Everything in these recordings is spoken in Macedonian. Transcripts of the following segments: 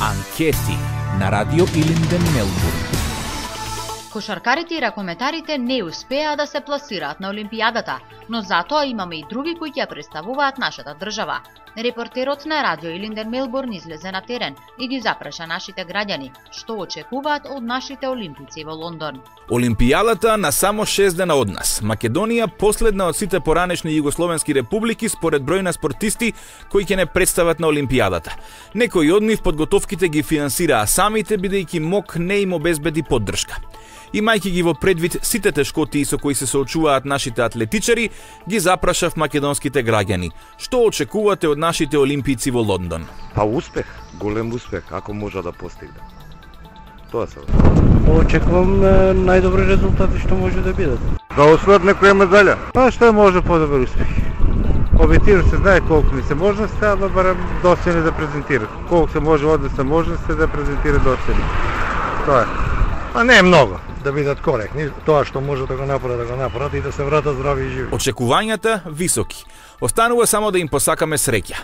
Анкети на Радио Илинден, Мелбурн. Кошаркарите и ракометарите не успеа да се пласираат на Олимпијадата, но затоа имаме и други кои ќе представуваат нашата држава. Репортерот на Радио Илинден, Мелбурн излезе на терен и ги запраша нашите граѓани што очекуваат од нашите олимпици во Лондон. Олимпијадата на само 6 дена од нас. Македонија последна од сите поранешни југословенски републики според број на спортисти кои ќе не представат на Олимпијадата. Некои од нив подготовките ги финансираа самите, бидејќи МОК не им обезбеди поддршка. Имајќи ги во предвид сите тешкотии со кои се соочуваат нашите атлетичари, ги запрашав македонските граѓани. Што очекувате од нашите олимпици во Лондон? Па успех, голем успех, ако може да постигне. Тоа се. Очекувам најдобри резултати што може да бидат. Да освојат некоја медаља. Па што може подобар успех. Објективно се знае колку ни се можности, ама барем доцени да презентираат. Колку се може однесна можности да презентира доцени. Тоа е. А не е многу. Да бидат коректни, тоа што може да го направат и да се вратат здрави и живи. Очекувањата високи. Останува само да им посакаме среќа.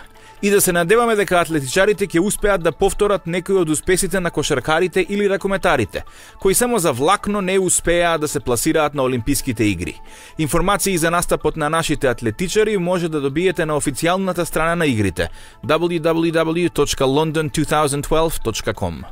И да се надеваме дека атлетичарите ќе успеат да повторат некои од успесите на кошаркарите или ракометарите, кои само за влакно не успеа да се пласираат на Олимписките игри. Информации за настапот на нашите атлетичари може да добиете на официјалната страна на игрите www.london2012.com.